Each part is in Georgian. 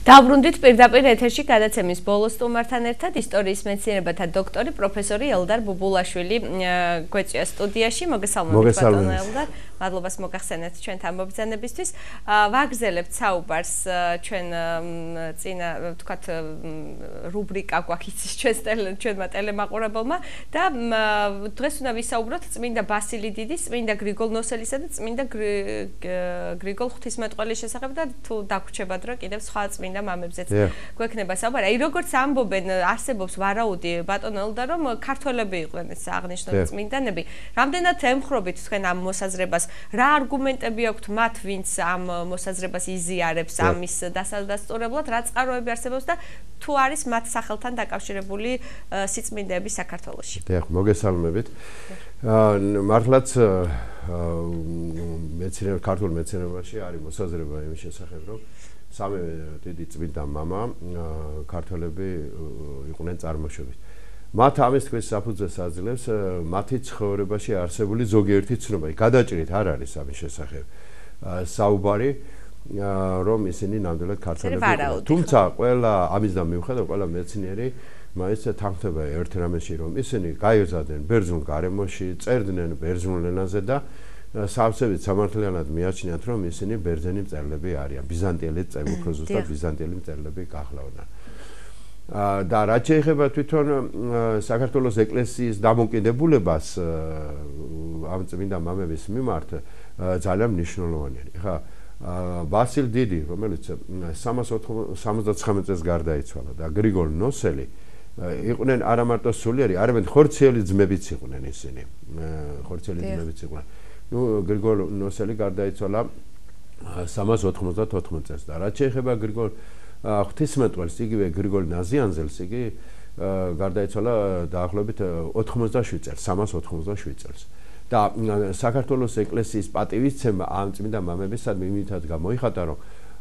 Დავბრუნდით პირდაპირ ეთერში გადაცემის ბოლოს სტუმართან ერთად ისტორიის მეცნიერებათა დოქტორი პროფესორი ელდარ ბუბულაშვილი გვეწია სტუდიაში. მოგესალმებით ბატონო ელდარ. მადლობას მოგახსენეთ ჩვენთან მობრძანებისთვის. ვაგრძელებთ საუბარს ჩვენ წინა ვთქვათ რუბრიკა გვაქვს ჩვენმა ტელემაყურებელმა და დღეს უნდა ვისაუბროთ წმინდა ბასილი დიდის, წმინდა გრიგოლ ნოსელისა და წმინდა გრიგოლ ღვთისმეტყველის შესახებ და თუ დაგვრჩებათ რომ კიდევ სხვა წმინდა მამებზეც გვექნება საუბარი. აი როგორც ამბობენ, არსებობს ვარაუდი ბატონო ელდა რომ ქართველები იყვნენ ეს აღნიშნული წმინდანები. რამდენად ემხრობით თქვენ ამ მოსაზრებას? რა არგუმენტები აქვთ მათ, ვინც ამ მოსაზრებას იზიარებს ამის დასადასტურებლად, რა წყაროები არსებობს და თუ არის მათ სახელთან დაკავშირებული სიწმინდეები საქართველოში? დიახ, მოგესალმებით. მართლაც ქართულ მეცნიერებაში არის მოსაზრება იმის შესახებ, რომ სამი დიდი წმინდა მამა ქართველები იყვნენ წარმოშობით. მათ ამის თქვის საფუძვეს აძლევს მათი ცხოვრებაში არსებული ზოგიერთი ცნობა. გადაჭრით არ არის ამის შესახებ საუბარი, რომ ისინი ნამდვილად ქართველები იყვნენ. თუმცა ყველა ამისგან მიუხედავად ყველა მეცნიერი მაინც თანხმდება ერთ რამეში, რომ ისინი გაიზარდნენ ბერძნულ გარემოში, წერდნენ ბერძნულ ენაზე და სავსებით სამართლიანად მიაჩნიათ, რომ ისინი ბერძენი მწერლები არიან, ბიზანტიელი მწერლები, უფრო ზუსტად ბიზანტიელი მწერლები გახლავდნენ. და რაც შეეხება თვითონ საქართველოს ეკლესიის დამოკიდებულებას ამ წმინდა მამების მიმართ ძალიან მნიშვნელოვანია. ხა ბასილ დიდი, რომელიც 379 წელს გარდაიცვალა და გრიგოლ ნოსელი იყვნენ არა მარტო სულიერი, არამედ ხორციელი ძმებიც იყვნენ ისინი. ხორციელი ძმებიც იყვნენ. გრიგოლ ნოსელი გარდაიცვალა 394 წელს და რაც შეეხება გრიგოლ ღვთისმეტყველს, იგივე გრიგოლ ნაზიანზელს, იგი გარდაიცვალა დაახლოებით 87 წელს, 387 წელს. და საქართველოს ეკლესიის პატივისცემა ამ წმინდა მამებისადმი იმითად გამოიხატა, რომ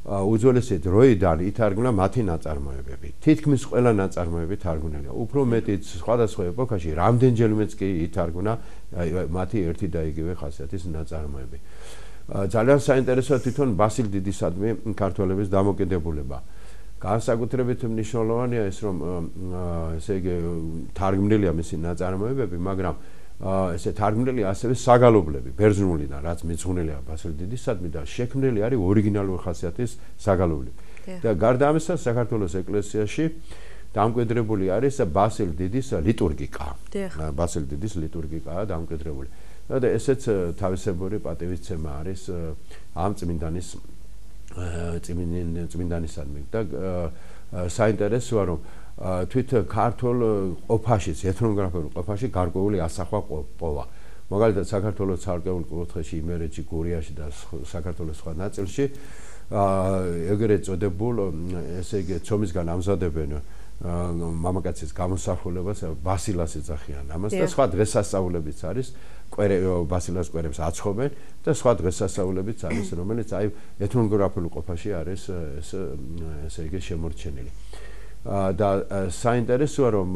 უძველესი დროიდან ითარგმნა მათი ნაწარმოებები. თითქმის ყველა ნაწარმოები თარგმნილია. უფრო მეტიც სხვადასხვა ეპოქაში რამდენჯერმეც კი ითარგმნა მათი ერთი და იგივე ხასიათის ნაწარმოები. ძალიან საინტერესოა თვითონ ბასილ დიდისადმი ქართველების დამოკიდებულება. განსაკუთრებით მნიშვნელოვანია ის, რომ ესე იგი თარგმნილია მისი ნაწარმოებები, მაგრამ ესე თარგმნილია ასევე საგალობლები ბერძნულიდან, რაც მიძღვნილია ბასილ დიდისადმი და შექმნილი არის ორიგინალური ხასიათის საგალობლები. და გარდა ამისა, საქართველოს ეკლესიაში დამკვიდრებული არის ბასილ დიდის ლიტურგიკა. ბასილ დიდის ლიტურგიკაა დამკვიდრებული. და ესეც თავისებური პატივისცემა არის ამ წმინდანისადმი. და საინტერესოა, რომ თვით ქართულ ყოფაშიც, ეთნოგრაფიულ ყოფაში გარკვეული ასახვა ყოფოვა. მაგალითად, საქართველოს ცალკეულ კუთხეში, იმერეთში, გურიაში და საქართველოს სხვა ნაწილში ეგრეთ წოდებულ, ესე იგი, ცომისგან ამზადებენ მამაკაცის გამოსახულებას ბასილას ეძახიან ამას და სხვა დღესასწაულებიც არის, ბასილას კვერებს აცხობენ და სხვა დღესასწაულებიც არის, რომელიც აი ეთნოგრაფიულ ყოფაში არის ესე იგი შემორჩენილი. და საინტერესოა, რომ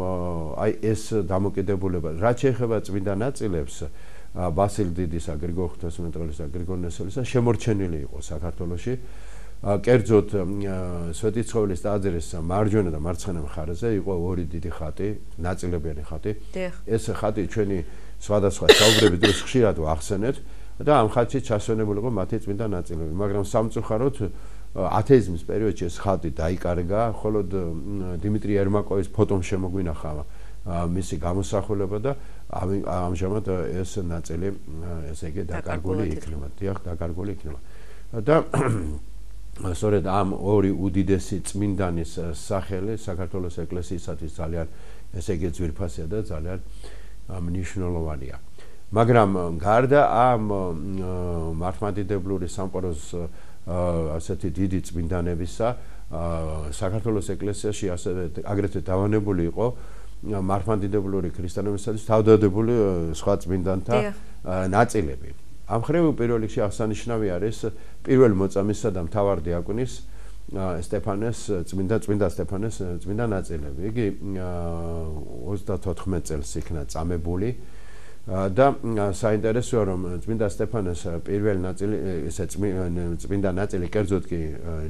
აი ეს დამოკიდებულება, რაც შეეხება წმინდა ნაწილებს, ბასილ დიდისა, გრიგოლ ღვთისმეტყველისა, გრიგოლ ნოსელისა შემორჩენილი იყო საქართველოში. კერძოდ სვეტიცხოვლის ტაძრის მარჯვენა და მარცხენა მხარეზე იყო ორი დიდი ხატი, ნაწილებიანი ხატი. ეს ხატი ჩვენი სხვადასხვა საუბრების დროს ხშირად ვახსენეთ და ამ ხატში ჩასვენებული იყო მათი წმინდა ნაწილები, მაგრამ სამწუხაროდ ათეიზმის პერიოდში ეს ხატი დაიკარგა, ხოლო დიმიტრი ერმაკოვის ფოტომ შემოგვინახა მისი გამოსახულება და ამჟამად ეს ნაწილი ესე იგი დაკარგული იქნება. დიახ, დაკარგული იქნება. და სწორედ ამ ორი უდიდესი წმინდანის სახელი საქართველოს ეკლესიისათვის ძალიან ესე იგი ძვირფასია და ძალიან მნიშვნელოვანია. მაგრამ გარდა ამ მართლმადიდებლური სამყაროს ასეთი დიდი წმინდანებისა, საქართველოს ეკლესიაში ასევე აგრეთვე დავანებული იყო მართლმადიდებლური ქრისტიანობისათვის თავდადებული სხვა წმინდანთა ნაწილები. ამ ხრივ პირველ რიგში აღსანიშნავი არის პირველ მოწამისა და მთავარ დიაკონის სტეფანეს წმინდა სტეფანეს წმინდა ნაწილები. იგი 34 წელს იქნა წამებული და საინტერესოა, რომ წმინდა სტეფანეს პირველი ნაწილი, ესე წმინდა ნაწილი, კერძოდ კი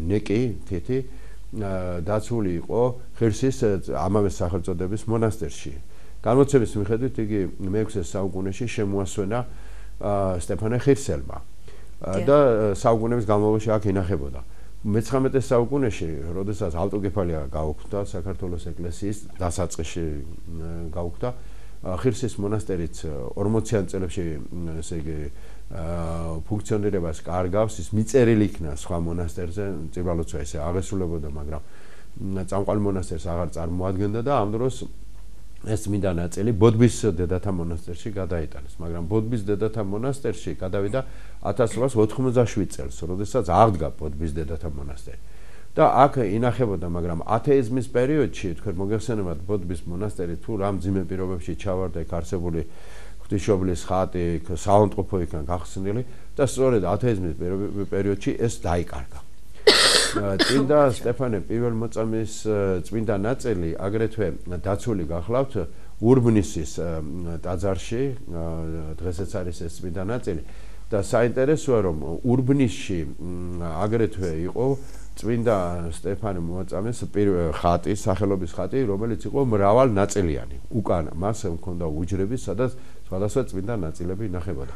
ნეკი, თითი დაცული იყო ხირსის ამავე სახელწოდების მონასტერში. განმოცემის მიხედვით იგი მე-6 საუკუნეში შემოასვენა სტეფანე ხირსელმა და საუკუნეების განმავლობაში აქ ინახებოდა. მე-19 საუკუნეში, როდესაც ავტოკეფალია გაუქმდა საქართველოს ეკლესიის დასაწყისში გაუქმდა, ხირსის მონასტერიც 40-იან წლებში ესე იგი ფუნქციონირებას კარგავს, ის მიწერილი იქნა სხვა მონასტერზე, წირვალოცვა ესე აღესრულებოდა, მაგრამ წამყვანი მონასტერს აღარ წარმოადგენდა და ამ დროს ეს წმინდა ნაწილი ბოდბის დედათა მონასტერში გადაიტანეს, მაგრამ ბოდბის დედათა მონასტერში გადავიდა 1887 წელს, როდესაც აღდგა ბოდბის დედათა მონასტერი. და აქ ინახებოდა, მაგრამ ათეიზმის პერიოდში, თქვენ მოგეხსენებათ, ბოდბის მონასტერი თუ რა მძიმე პირობებში ჩავარდა, იქ არსებული ღვთისმშობლის ხატი, საავადმყოფო იქნა გახსნილი და სწორედ ათეიზმის პერიოდში ეს დაიკარგა. წმინდა სტეფანე პირველმოწამის წმინდა ნაწილი აგრეთვე დაცული გახლავთ ურბნისის ტაძარში, დღესაც არის ეს წმინდა ნაწილი და საინტერესოა, რომ ურბნისში აგრეთვე იყო წმინდა სტეფანე მოწამეს ხატი, სახელობის ხატი, რომელიც იყო მრავალნაწილიანი. უკან მას ჰქონდა უჯრები, სადაც სხვადასხვა წმინდა ნაწილები ინახებოდა.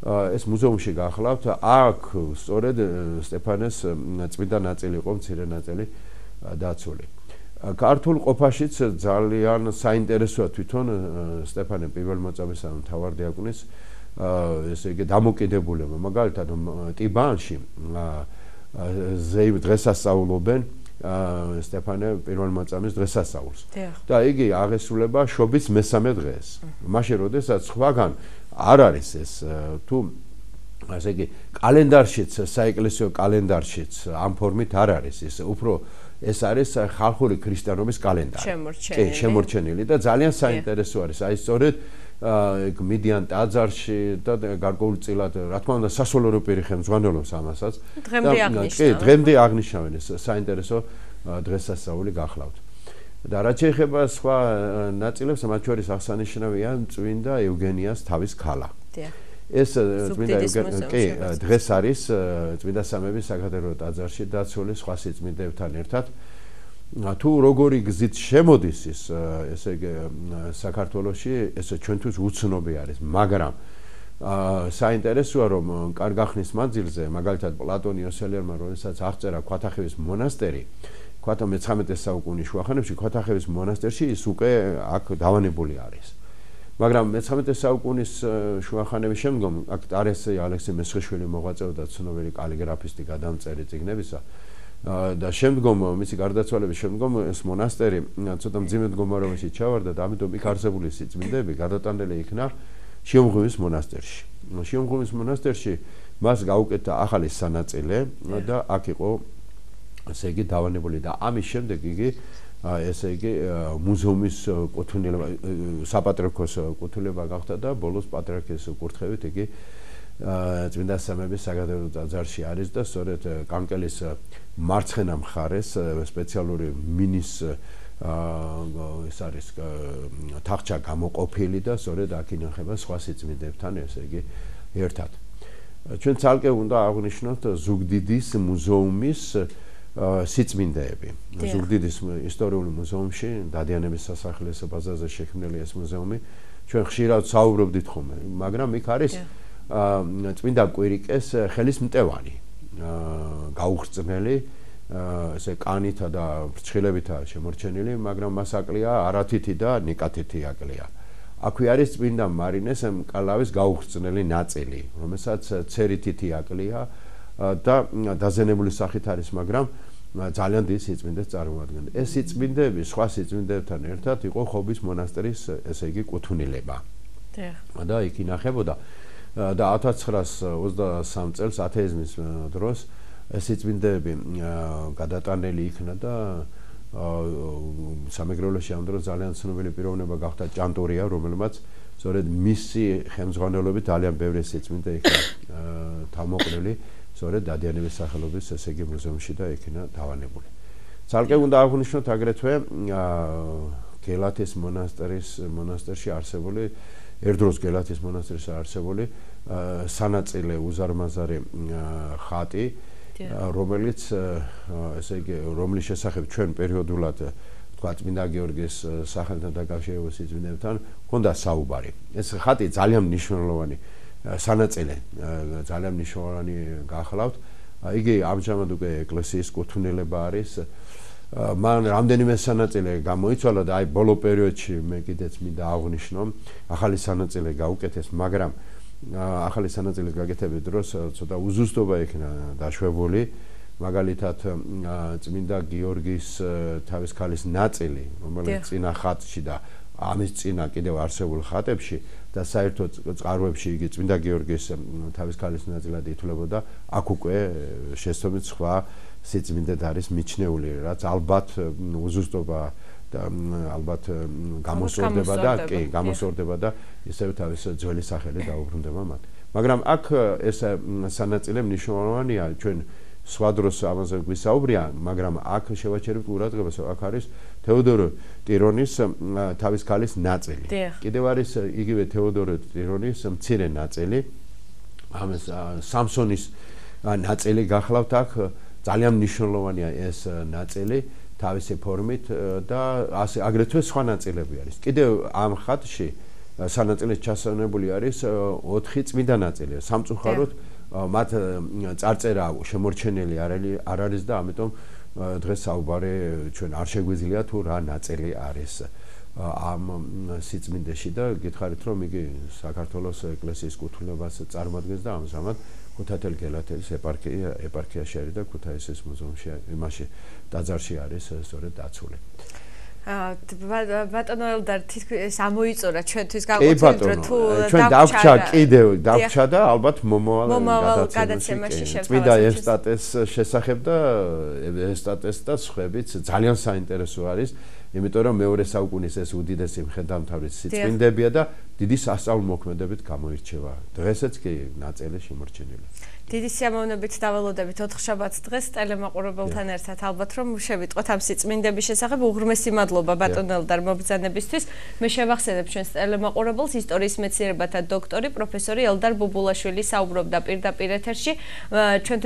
ეს მუზეუმში გახლავთ, აქ სწორედ სტეფანეს წმინდა ნაწილი იყო, მცირე ნაწილი დაცული. ქართულ ყოფაშიც ძალიან საინტერესოა თვითონ სტეფანე პირველმოწამის ან მთავარდიაკონის ესე იგი დამოკიდებულება. მაგალითად, ტიბანში დღესასწაულობენ სტეფანე პირველმოწამის დღესასწაულს. და იგი აღესრულება შობის მესამე დღეს. მაშინ, როდესაც სხვაგან არ არის ეს თუ ასე იგი კალენდარშიც, საეკლესიო კალენდარშიც ამ ფორმით არ არის ის, უფრო ეს არის ხალხური ქრისტიანობის კალენდარი. კი, შემორჩენილი და ძალიან საინტერესო არის. აი სწორედ მიდიან ტაძარში და გარკვეულწილად, რა თქმა უნდა, სასულიერო პირი ხელმძღვანელობს ამასაც. კი, დღემდე აღნიშნავენ ეს საინტერესო დღესასწაული გახლავთ. და რაც შეეხება სხვა ნაწილებს, მათ შორის აღსანიშნავია წმინდა ევგენიას თავის ქალა. ეს წმინდა კი დღეს არის წმინდა სამების საკათედრო ტაძარში დაცული სხვა სიწმინდებთან ერთად. თუ როგორი გზით შემოდის ის ესე იგი საქართველოში, ეს ჩვენთვის უცნობი არის, მაგრამ საინტერესოა, რომ კარგახნის მანძილზე, მაგალითად პლატონ იოსელიანმა, როდესაც აღწერა ქვათახევის მონასტერი, მე-19 საუკუნის შუახანებში ქვათახევის მონასტერში ის უკვე აქ დავანებული არის. მაგრამ მე-19 საუკუნის შუახანების შემდგომ აქ ტარესი ალექსი მესხიშვილი მოღვაწეობდა, ცნობილი კალიგრაფისტი, გადამწერი წიგნებისა და შემდგომ მისი გარდაცვალების შემდგომ ეს მონასტერი ცოტა მძიმე მდგომარეობაში ჩავარდა და ამიტომ იქ არსებული სიწმინდეები გადატანილი იქნა შიომღვიმის მონასტერში. შიომღვიმის მონასტერში მას გაუკეთა ახალი სანაწილე და აქ იყო ესე იგი დავანებული და ამის შემდეგ იგი ესე იგი მუზეუმის კუთვნილება, საპატრიარქოს კუთვნილება გახდა და ბოლოს პატრიარქის კურთხევით იგი წმინდა სამების საკათედრო ტაძარში არის და სწორედ კანკელის მარცხენა მხარეს სპეციალური მინის ეს არის თახჩა გამოყოფილი და სწორედ აქ ინახება სხვა სიწმინდებთან, ესე იგი ერთად. ჩვენ ცალკე უნდა აღვნიშნოთ ზუგდიდის მუზეუმის სიწმინდეები. ზუგდიდის ისტორიული მუზეუმში, დადიანების სასახლის ბაზაზე შექმნილი ეს მუზეუმი, ჩვენ ხშირად საუბრობდით ხოლმე, მაგრამ იქ არის წმინდა კვირიკეს ხელის მტევანი, გაუხრწნელი, ესე კანითა და ფრჩხილებითა შემორჩენილი, მაგრამ მას აკლია არათითი და ნიკათითი აკლია. აქვე არის წმინდა მარინეს მკლავის გაუხრწნელი ნაწილი, რომელსაც ცერითითი აკლია და დაზენებული სახით არის, მაგრამ ძალიან დიდ სიწმინდეს წარმოადგენდა. ეს სიწმინდეები სხვა სიწმინდებთან ერთად იყო ხობის მონასტერის, ესე იგი კუთვნილება. და იქ ინახებოდა და 1923 წელს ათეიზმის დროს ეს სიწმინდეები გადატანილი იქნა და სამეგრელოში ამ დროს ძალიან ცნობილი პიროვნება გახდა ჭანტურია, რომელმაც სწორედ მისი ხელმძღვანელობით ძალიან ბევრი სიწმინდე იქნა თავმოყრილი, სწორედ დადიანების სახელობის ესე იგი მუზეუმში და იქნა დავანებული. ცალკე უნდა აღვნიშნოთ აგრეთვე გელათის მონასტერში არსებული, ერთდროს გელათის მონასტერში არსებული სანაწილე უზარმაზარი ხატი. რომელიც ესე იგი რომლის შესახებ ჩვენ პერიოდულად თქვა წმინდა გიორგის სახელთან დაკავშირებულ სიწმინდებთან ჰქონდა საუბარი. ეს ხატი ძალიან მნიშვნელოვანი სანაწილე, ძალიან მნიშვნელოვანი გახლავთ. იგი ამჟამად უკვე ეკლესიის კუთვნილება არის. მან რამდენიმე სანაწილე გამოიცვალა და აი ბოლო პერიოდში მე კიდეც მინდა აღვნიშნო, ახალი სანაწილე გაუკეთეს, მაგრამ ახალი სანაწილის გაკეთების დროს ცოტა უზუსტობა იქნა დაშვებული. მაგალითად წმინდა გიორგის თავის ქალის ნაწილი, რომელიც წინა ხატში და ამის წინა კიდევ არსებულ ხატებში და საერთოდ წყაროებში იგი წმინდა გიორგის თავის ქალის ნაწილად ითვლებოდა, აქ უკვე შესაბამისად სხვა სიწმინდედ არის მიჩნეული, რაც ალბათ უზუსტობა და ალბათ გამოსორდება და ისევ თავის ძველი სახელი დაუბრუნდება მათ. მაგრამ აქ ეს სანაწილე მნიშვნელოვანია, ჩვენ სხვა დროს ამაზე გვისაუბრია, მაგრამ აქ შევაჩერებთ ყურადღებას, აქ არის თეოდორე ტირონის თავის ქალის ნაწილი. კიდევ არის იგივე თეოდორე ტირონის მცირე ნაწილი, ამას სამსონის ნაწილი გახლავთ აქ, ძალიან მნიშვნელოვანია ეს ნაწილი თავისი ფორმით და აგრეთვე სხვა ნაწილები არის. კიდევ ამ ხატში სანაწილეს ჩასანებული არის 4 წმინდა ნაწილი. სამწუხაროდ მათ წარწერა შემორჩენილი არ არის და ამიტომ დღეს საუბარი ჩვენ არ შეგვიძლია თუ რა ნაწილი არის ამ სიწმინდეში და გითხარით რომ იგი საქართველოს ეკლესიის კუთვნილებას წარმოადგენს და ამჟამად ქუთათელ გელათელის ეპარქიაში არის და ქუთაისის მუზეუმში იმაში ტაძარში არის სწორედ დაცული. ბატონო ელდარ თითქოს ამოიწურა ჩვენთვის გაყოთილ დრო თუ ჩვენ დავჭა და ალბათ მომავალ გადაცემაში შევთავაზებთ. წმინდა ევსტატეს შესახებ და ევსტატეს და სხვაებიც ძალიან საინტერესო არის, იმიტომ რომ მეორე საუკუნის ეს უდიდესი მხედართმთავრის სიწმინდებია და დიდი სასწაულმოქმედებით გამოირჩევა. დღესაც კი ნაწილი შემორჩენილია. დიდი სიამოვნებით დაველოდებით 4 შაბათს დღეს ტელემაყურებელთან ერთად ალბათ რომ შევიტყვეთ ამ სიწმინდების შესახებ. უღრმესი მადლობა ბატონ ელდარ მობრძანებისთვის. მე შევახსენებ ჩვენს ტელემაყურებელს ისტორიის მეცნიერებათა დოქტორი პროფესორი ელდარ ბუბულაშვილი საუბრობდა პირდაპირ ეთერში. ჩვენ